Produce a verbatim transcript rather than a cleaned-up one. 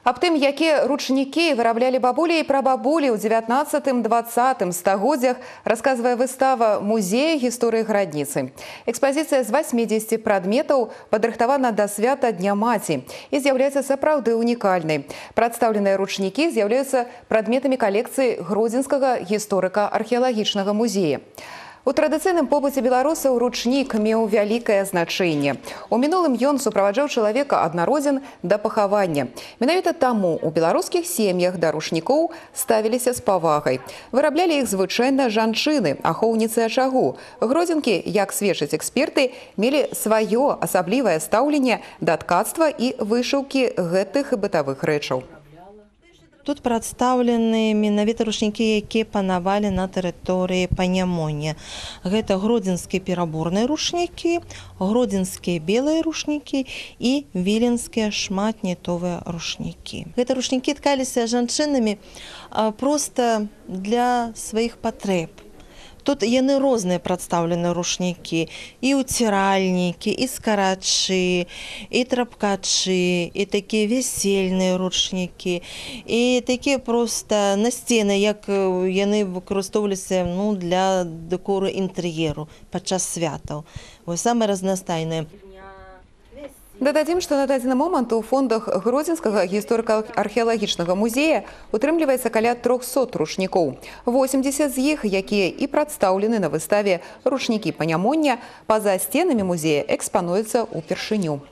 Аб тым, якія ручнікі выраблялі бабулі і прабабулі ў дзевятнаццатым-дваццатым стагоддзях, расказвае выстава музея гісторыі Градніцы. Экспазіцыя з васьмідзесяці прадметаў падрыхтавана да свята Дня маці і з'яўляецца сапраўды унікальнай. Прадстаўленыя ручнікі з'яўляюцца прадметамі калекцыі Гродзенскага гісторыка-археалагічнага музея. У традыцыйным побыце беларусаў ручнік меў вялікае значэнне. У мінулым ён суправаджаў чалавека ад народзін да пахавання. Менавіта таму у беларускіх сем'ях да ручнікоў ставіліся з павагай. Выраблялі іх звычайна жанчыны, ахоўніцы ачагу. Гродзенкі, як сведчаць эксперты, мелі сваё асаблівае стаўленне да ткацтва і вышыўкі гэтых бытавых рэчаў. Тут прадстаўлены менавіта ручнікі, якія панавалі на тэрыторыі Панямоння. Гэта гродзенскія пераборныя ручнікі, гродзенскія белыя ручнікі і віленскія шматнітовыя ручнікі. Гэта ручнікі ткаліся жанчынамі проста для сваіх патрэб. Тут яны розныя прадстаўлены ручнікі, і ўціральнікі, і скарачы, і трапкачы, і такія весельныя ручнікі, і такія проста насцены, як яны выкарыстоўваліся ну, для дэкору інтэр'еру падчас святаў. Вось самыя разнастайныя. Дададзім, што на дадзены момант у фондах Гродзенскага гісторыка-археалагічнага музея утрымліваецца каля трохсот ручнікоў. восемьдесят з іх, якія і прадстаўлены на выставе «Ручнікі Панямоння», па-за сценамі музея экспануюцца ўпершыню.